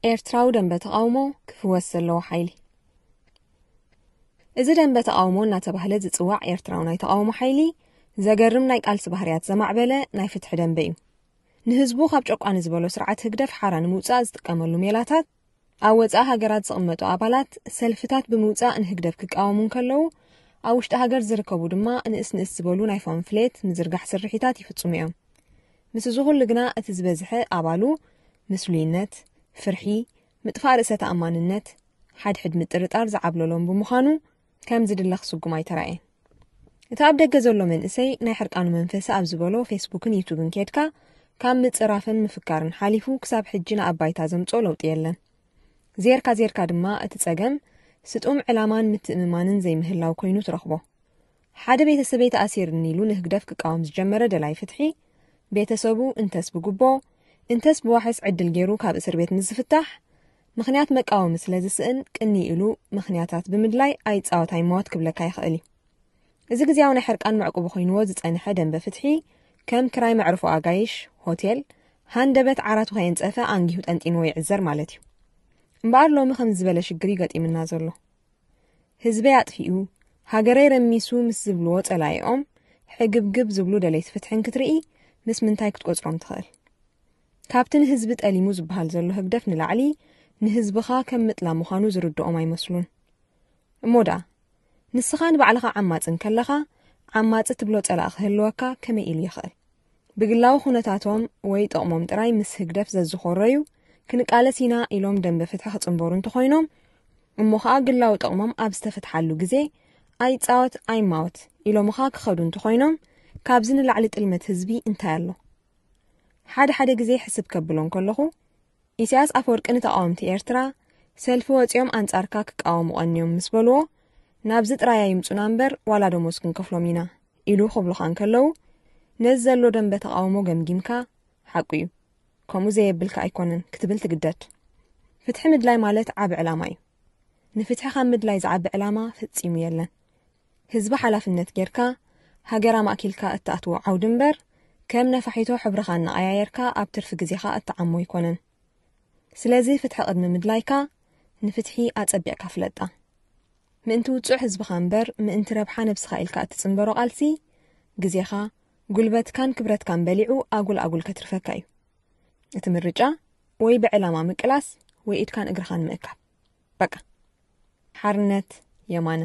ኤርትራዊ ደንበ ተቓውሞ ክፍወስ ዘለዎ ሓይሊ። እዚ ደንበ ተቓውሞ እናተባህለ ዝጽዋዕ ኤርትራዊ ናይ ተቓውሞ ሓይሊ፣ ዘገርም ናይ ቃልሲ ባህርያት ዘማዕበለ ናይ ፍትሒ ደንበ እዩ። ንህዝቡ ካብ ጨቋኒ ዝበሎ ስርዓት ህግደፍ ሓራ ንምውጻእ ዝጥቀመሉ ሜላታት፣ ኣብ ወጻኢ ሃገራት ዝቕመጡ ኣባላት ሰልፍታት ብምውጻእ ንህግደፍ ክቃወሙ እንከለዉ፣ ኣብ ውሽጢ ሃገር ዝርከቡ ድማ ንእስ ንእስ ዝበሉ ናይ ፓምፍሌት ምዝርጋሕ ስርሒታት ይፍጽሙ እዮም። ምስ እዚ ኩሉ ግና እቲ ዝበዝሐ ኣባሉ ምስሉይነት፣ ፍርሒ፣ ምጥፋእ ርእሰ ተኣማንነት፣ ሓድሕድ ምጥርጣር ዝዓብለሎም ብምዃኑ ከም ዝድለ ክስጉም ኣይተራእየን። እቲ ኣብ ደገ ዘሎ መንእሰይ ናይ ሕርቃኑ መንፈሲ ኣብ ዝበሎ ፌስቡክን ዩቱብን ኬድካ ካብ ምጽራፍን ምፍካርን ሓሊፉ ክሳብ ሕጂ ንኣባይታ ዘምጽኦ ለውጢ የለን። ዜርካ ዜርካ ድማ እቲ ጸገም ስጡም ዕላማን ምትእምማንን ዘይምህላው ኮይኑ ትረኽቦ። ሓደ ቤተሰበይ ተኣሲርኒ ኢሉ ንህግደፍ ክቃወም ዝጀመረ ደላይ ፍትሒ፣ ቤተሰቡ እንተስ ብጉቦ እንተስ ብዋሕስ ዕድል ገይሩ ካብ እስር ቤት ምስ ዝፍታሕ፣ ምኽንያት መቃወሚ ስለ ዝስእን ቅኒ ኢሉ ምኽንያታት ብምድላይ ኣይጻወት ኣይማወት ክብለካ ይኽእል እዩ። እዚ ግዜያዊ ናይ ሕርቃን መዕቁቢ ኮይንዎ ዝጸንሐ ደንበ ፍትሒ ከም ክራይ መዕርፎ ኣጋይሽ፣ ሆቴል፣ ሃንደበት ዓራቱ ከየንጸፈ ኣንጊሁ ጠንጢንዎ ይዕዘር ማለት እዩ። እምበኣር ሎሚ ከም ዝበለ ሽግር እዩ ገጢምና ዘሎ። ህዝበይ ኣጥፊኡ፣ ሃገረይ ረሚሱ ምስ ዝብልዎ ጸላኢኦም ሕግብግብ ዝብሉ ደለይቲ ፍትሕን ክትርኢ ምስ ምንታይ ክትቆጽሮም ትኽእል? ካብቲ ንህዝቢ ጠሊሙ ዝበሃል ዘሎ ህግደፍ ንላዕሊ ንህዝብኻ ከም ምጥላም ምዃኑ ዝርድኦም ኣይመስሉን። እሞ ደኣ ንስኻ ንባዕልኻ ዓማጺ እንከለኻ ዓማጺ ትብሎ ጸላኢ ክህልወካ ከመይ ኢሉ ይኽእል? ብግላዊ ኩነታቶም ወይ ጥቕሞም ጥራይ ምስ ህግደፍ ዘዝኾረዩ ክንቃለስ ኢና ኢሎም ደንበ ፍትሒ ክጽንበሩ እንተኾይኖም፣ እሞ ኸኣ ግላዊ ጥቕሞም ኣብ ዝተፈትሓሉ ግዜ ኣይጻወት ኣይማወት ኢሎምኻ ክኸዱ እንተኾይኖም፣ ካብዚ ንላዕሊ ጥልመት ህዝቢ እንታይ ኣሎ? ሓደ ሓደ ግዜ ሕስብ ከብሎ እንከለኹ፣ ኢሳያስ ኣፈወርቂ ንተቓወምቲ ኤርትራ ሰልፊ ወጺኦም ኣንጻርካ ክቃወሙ ቀንዮም ምስ በልዎ፣ ናብዚ ጥራይ ኣይምጹና እምበር ዋላ ደሞዝ ክንከፍሎም ኢና ኢሉ ክብሉኻ እንከለዉ፣ ነዚ ዘሎ ደንበ ተቓውሞ ገምጊምካ፣ ሓቁ እዩ፣ ከምኡ ዘየብልካ ኣይኮነን ክትብል ትግደድ። ፍትሒ ምድላይ ማለት ዓቢ ዕላማ እዩ። ንፍትሒ ካብ ምድላይ ዝዓቢ ዕላማ ፈጺሙ የለን። ህዝቢ ሓላፍነት ጌርካ፣ ሃገር ኣማእኪልካ እትኣትዎ ዓውዲ እምበር፣ ከም ነፋሒቶ ሕብርኻ እናቐያየርካ ኣብ ትርፊ ግዜኻ እትዓሞ ኣይኮነን። ስለዚ ፍትሒ ቅድሚ ምድላይካ፣ ንፍትሒ ኣጸቢቕካ ፍለጣ። ምእንቲ ውጹዕ ህዝብኻ እምበር፣ ምእንቲ ረብሓ ነብስኻ ኢልካ እትጽንበሮ ቃልሲ፣ ግዜኻ፣ ጉልበትካን ክብረትካን በሊዑ ኣጉል ኣጉል ከትርፈካ እዩ። እቲ ምርጫ፣ ወይ ብዕላማ ምቅላስ፣ ወይ ኢድካን እግርኻን ምእካብ። በቃ። ሓርነት የማነ።